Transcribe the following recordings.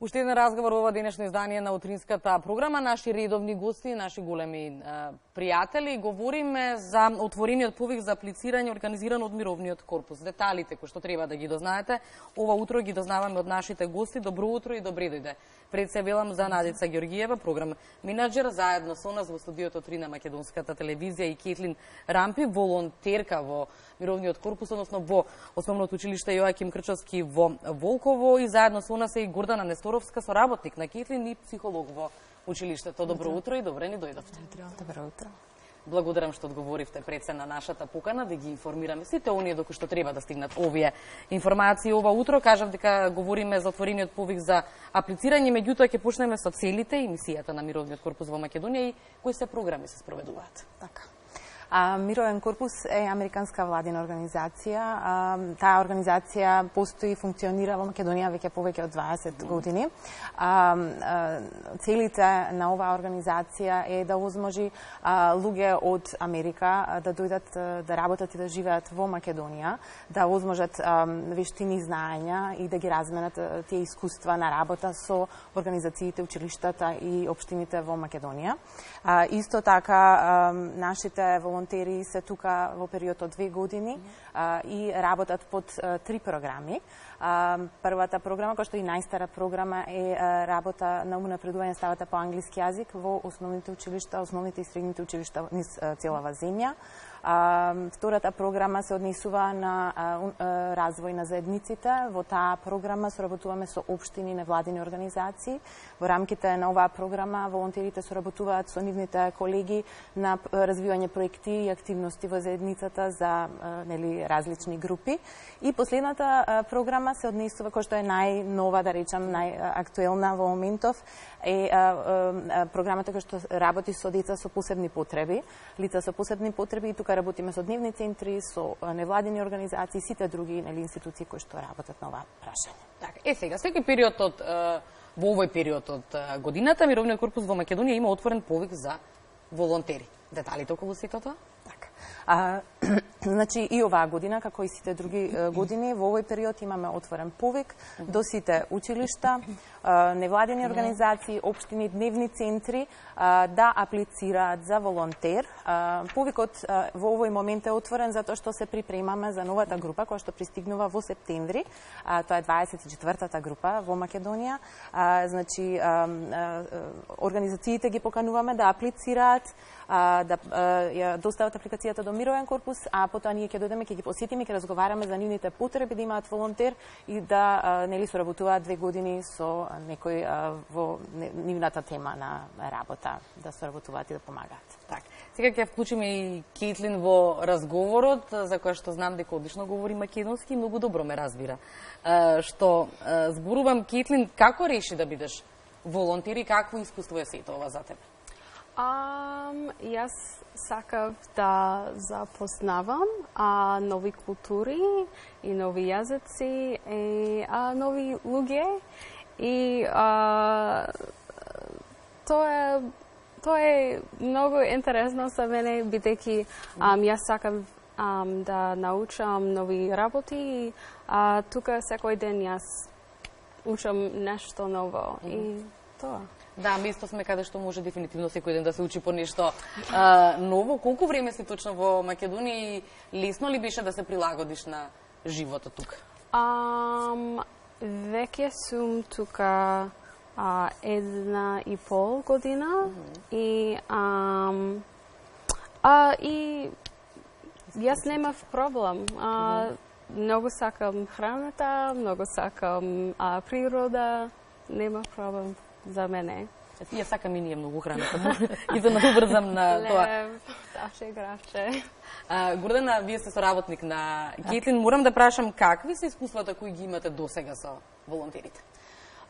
Уште еден разговор во ова денешно издание на утринската програма. Наши редовни гости, наши големи пријатели, говориме за отворениот повик за аплицирање организиран од Мировниот корпус. Деталите кои што треба да ги дознаете, ова утро ги дознаваме од нашите гости. Добро утро и добре дојде. Пред се велам за Надица Ѓоргиева, програм менаџер, заедно со нас во студиото 3 на Македонската телевизија и Кетлин Рампи, волонтерка во Мировниот корпус, односно во Основното училиште Јоаким Крчовски во Волково, и заедно со нас е и Гордана Несторовска, соработник на Кетлин и психолог во училиштето. Добро утро и добре ни дојдовте. Добро утро. Благодарам што одговоривте пред се на нашата покана да ги информираме сите оние доколку што треба да стигнат овие информации ова утро. Кажав дека говориме за отворениот повик за аплицирање, меѓутоа ќе почнеме со целите и мисијата на Мировниот корпус во Македонија и кои се програми се спроведуваат. Така. Мировен корпус е американска владина организација. Таа организација постои и функционира во Македонија веќе повеќе од 20 години. Целите на оваа организација е да овозможи луѓе од Америка да дојдат да работат и да живеат во Македонија, да овозможат вештини и знаења и да ги разменат тие искуства на работа со организациите, училиштата и општините во Македонија. Исто така нашите волонтери се тука во период од 2 години и работат под 3 програми. Првата програма, која што е најстара програма, е работа на унапредување ставата по англиски јазик во основните училишта, основните и средните училишта низ целава земја. Втората програма се однесува на развој на заедниците. Во таа програма соработуваме со општини, невладини организации. Во рамките на оваа програма волонтерите соработуваат со нивните колеги на развивање проекти и активности во заедницата за различни групи. И последната програма се однесува, која што е најнова, да речам, најактуелна во моментов, е програмата која што работи со деца со посебни потреби, лица со посебни потреби, и тука работиме со дневни центри, со невладини организации и сите други институции кои што работат на оваа прашање. Така, сега, секој период во овој период од годината, Мировниот корпус во Македонија има отворен повик за волонтери. Деталите околу сето тоа? Така. Значи, и оваа година, како и сите други години, во овој период имаме отворен повик до сите училишта, невладени организации, општини, дневни центри да аплицираат за волонтер. Повикот во овој момент е отворен затоа што се припремаме за новата група која што пристигнува во септември. Тоа е 24-та група во Македонија. Значи, организациите ги покануваме да аплицираат, да ја достават апликацијата до Мировен корпус, а потоа ние ќе дојдеме, ќе ги посетиме, ќе разговараме за нивните потреби да имаат волонтер и да соработуваат 2 години со некој во нивната тема на работа, да соработуваат и да помагаат. Так. Сега ќе вклучиме и Кетлин во разговорот, за која што знам дека одлично говори македонски и многу добро ме разбира. Што зборувам, Кетлин, како реши да бидеш волонтер и какво искуство е сето ова за тебе? Јас сакав да запознавам нови култури и нови јазици и нови луѓе, и тоа е многу интересно за мене, бидејќи јас сакам да научам нови работи и тука секој ден јас учам нешто ново и тоа. Да, место сме каде што може дефинитивно секој ден да се учи по нешто ново. Колку време си точно во Македонија и лесно ли беше да се прилагодиш на животот тука? Веќе сум тука 1,5 година и јас немав проблем. Многу сакам храната, многу сакам природа, нема проблем за мене. Ја сакам и ние многу храната и да надобрзам на тоа. Лев, таше, гравче. Гордана, вие сте соработник на Кетлин. Морам да прашам какви се искуствата кои ги имате досега со волонтерите?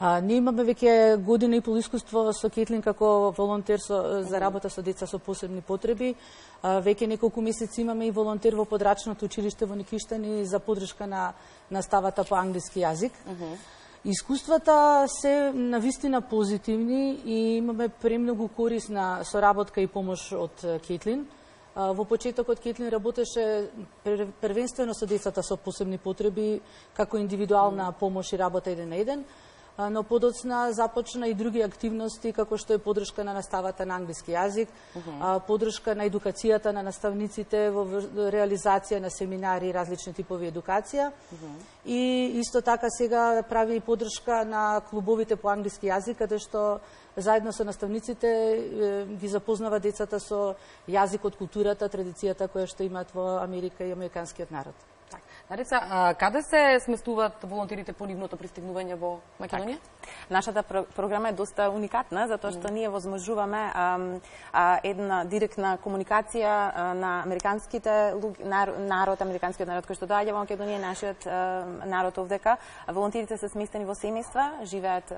Ние имаме веќе година и пол искуство со Кетлин како волонтер за работа со деца со посебни потреби. Веќе неколку месеци имаме и волонтер во подрачното училиште во Никиштани за поддршка на ставата по англиски јазик. Искуствата се навистина позитивни и имаме премногу корисна соработка и помош од Кетлин. Во почетокот Кетлин работеше првенствено со децата со посебни потреби, како индивидуална помош и работа еден на еден. но подоцна започна и други активности, како што е подршка на наставата на англиски јазик, подршка на едукацијата на наставниците во реализација на семинари и различни типови едукација. И исто така сега прави и подршка на клубовите по англиски јазик, каде што заедно со наставниците ги запознава децата со јазикот, културата, традицијата која што имаат во Америка и американскиот народ. Нарица, каде се сместуваат волонтерите по нивното пристигнување во Македонија? Нашата програма е доста уникатна, затоа што ние возможуваме една директна комуникација на американските американскиот народ кој што доаѓа во Македонија, нашиот народ овдека. Волонтерите се сместени во семејства, живеат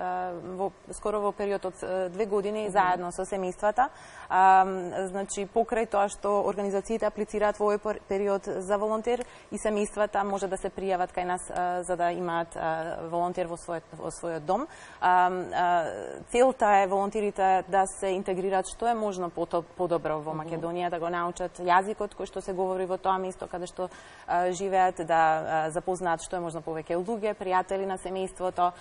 скоро во период од 2 години заедно со семејствата. Значи, покрај тоа што организациите аплицираат во овој период за волонтер и семејствата може да се пријават кај нас за да имаат волонтер во својот дом. Целта е волонтерите да се интегрираат што е можно подобро во Македонија, да го научат јазикот кој што се говори во тоа место каде што живеат, да запознаат што е можно повеќе луѓе, пријатели на семејството,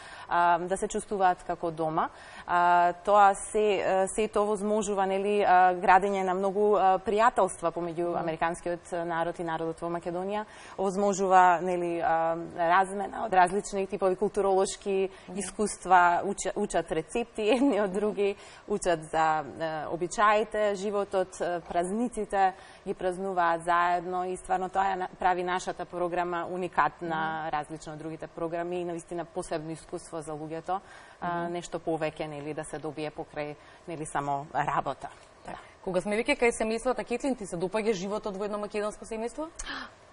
да се чувствуваат како дома. Тоа се тоа возможува, нели, градење на многу пријателства помеѓу американскиот народ и народот во Македонија, возможува, нели, размена од различни типови културолошки искуства, учат рецепти едни од други, учат за обичаите, животот, празниците, ги празнуваат заедно и стварно тоа прави нашата програма уникатна, различно од другите програми и навистина посебно искуство за луѓето, нешто повеќе, нели, да се добие покрај, нели, само работа. Кога сме веќе кај семејствата, Кетлин, ти се допаѓа животот во едно македонско семејство?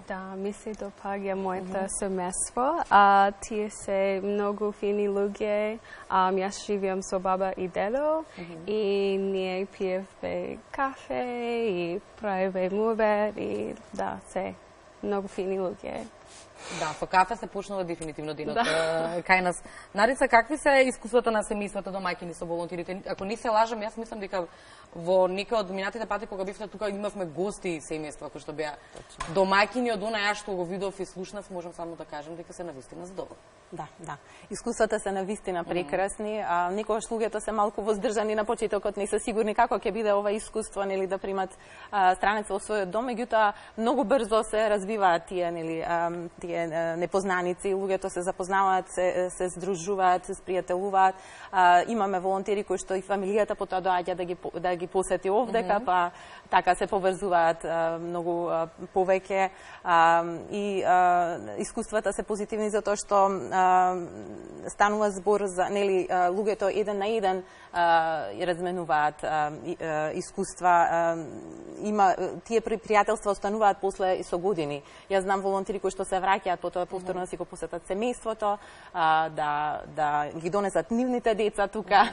Да, ми се допаѓа моето семејство. Тие се многу фини луѓе. Јас живеам со баба и дедо и ние пиевме кафе и правиме мувер и да, се многу фини луѓе. Да, со кафе се почнува дефинитивно денот кај нас. Нарица, какви се искуствата на семејствата домаќини со волонтерите? Ако не се лажам, јас мислам дека во некој од минатите пати кога бевте тука имавме гости семејства кои што беа домаќини од она што го видов и слушнав, можам само да кажам дека се навистина задоволни. Да. Искуствата се навистина прекрасни. Некогаш луѓето се малку воздржани на почетокот, не се сигурни како ќе биде ова искуство, нели, да примат странеца во својот дом, меѓутоа многу брзо се развиваат тие, нели, тие непознаници, луѓето се запознаваат, се здружуваат, се спријателуваат. Имаме волонтери кои што и фамилијата потоа доаѓа да ги посети овдека, па така се поврзуваат многу повеќе и искуствата се позитивни затоа што станува збор за, нели, луѓето еден на еден разменуваат искуства, тие пријателства остануваат после со години. Јас знам волонтери кои што се враќаат потоа повторно да си го посетат семејството, да ги донесат нивните деца тука,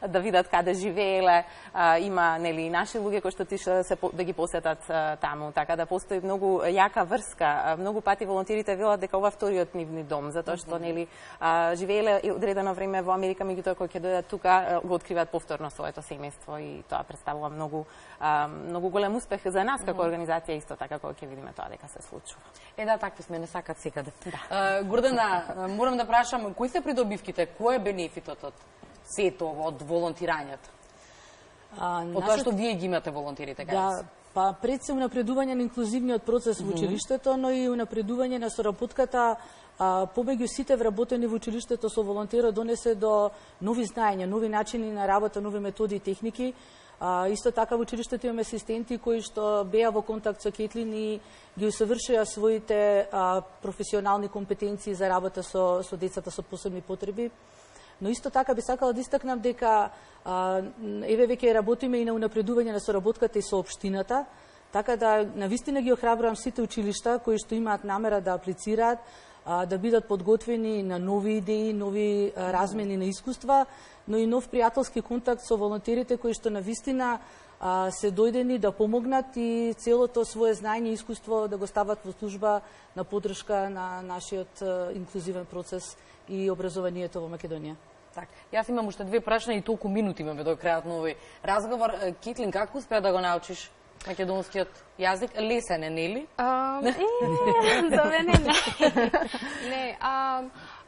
да видат каде живееле. Има, нели, наши луѓе кои што тише да ги посетат таму, така да постои многу јака врска. Многу пати волонтерите велат дека ова вториот нивни дом, затоа што, нели, живееле одредено време во Америка, меѓутоа кога ќе дојдат тука го откриваат повторно своето семејство и тоа представува многу голем успех за нас како организација, исто така кога ќе видиме тоа дека се случува. Да, такви сме, не сакат секаде. Гордана, морам да прашам, кои се придобивките, кој е бенефитот од сето од волонтирањето? Од тоа што вие ги имате волонтерите, кај нас? Па пред се унапредување на инклузивниот процес во училиштето, но и унапредување на соработката помеѓу сите вработени во училиштето со волонтерот донесе до нови знаења, нови начини на работа, нови методи и техники. Исто така во училиштето имаме асистенти кои што беа во контакт со Кетлин и ги усовршија своите професионални компетенции за работа со децата со посебни потреби. Но исто така би сакала да истакнам дека еве веќе работиме и на унапредување на соработката и со општината, така да навистина ги охрабрувам сите училишта кои што имаат намера да аплицираат, да бидат подготвени на нови идеи, нови размени на искуства, но и нов пријателски контакт со волонтерите кои што навистина се дојдени да помогнат и целото свое знаење и искуство да го стават во служба на поддршка на нашиот инклузивен процес и образованието во Македонија. Так, јас имам уште 2 прашања и толку минути имаме до крајот на овој разговор. Кетлин, како успеа да го научиш македонскиот јазик? Лесен е, нели? За мене не. Не,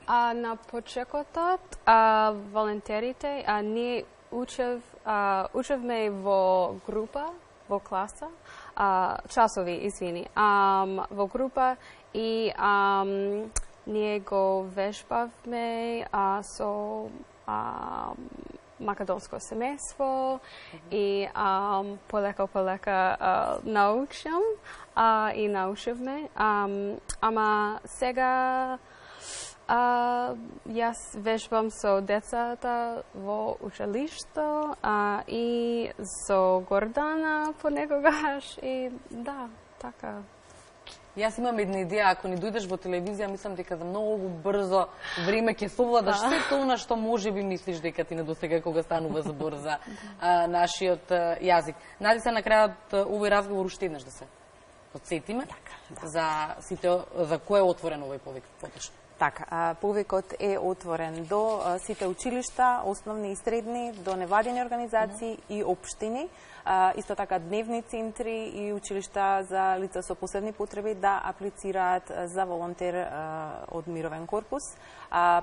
На почекотот, волонтерите, ние учевме во група, во класа, часови, извини, во група и ние го вежбавме со македонско семејство и полека научам и научивме. Ама сега јас вежбам со децата во училишто и со Гордана понекогаш и да, така. Јас имам една идеја, ако ни дојдеш во телевизија, мислам дека за многу брзо време ќе совладаш сето она што може би мислиш дека ти недосега кога станува збор за нашиот јазик. Нади се на крајот овој разговор уште еднаш да се подсетиме за кој е отворен овој повик поточно. Така, повикот е отворен до сите училишта, основни и средни, до невладени организации и општини, исто така дневни центри и училишта за лица со посебни потреби да аплицираат за волонтер од Мировен корпус.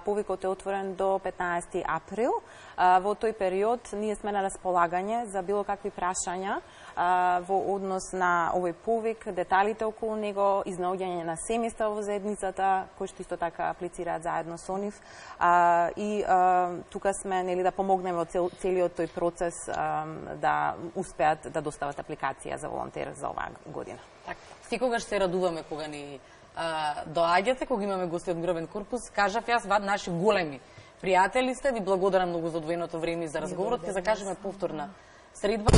Повикот е отворен до 15 април. Во тој период ние сме на располагање за било какви прашања во однос на овој повик, деталите околу него, изнаоѓање на семејства во заедницата, кои што исто така аплицираат заедно со нив. И тука сме да помогнеме во целиот тој процес да успеат да достават апликација за волонтер за оваа година. Така, секогаш се радуваме кога ни доаѓате, кога имаме гости од Мировен корпус. Кажав јас, наши големи пријатели сте, ви благодарам многу за одвоеното време и за разговорот. Ќе закажеме повторна средба.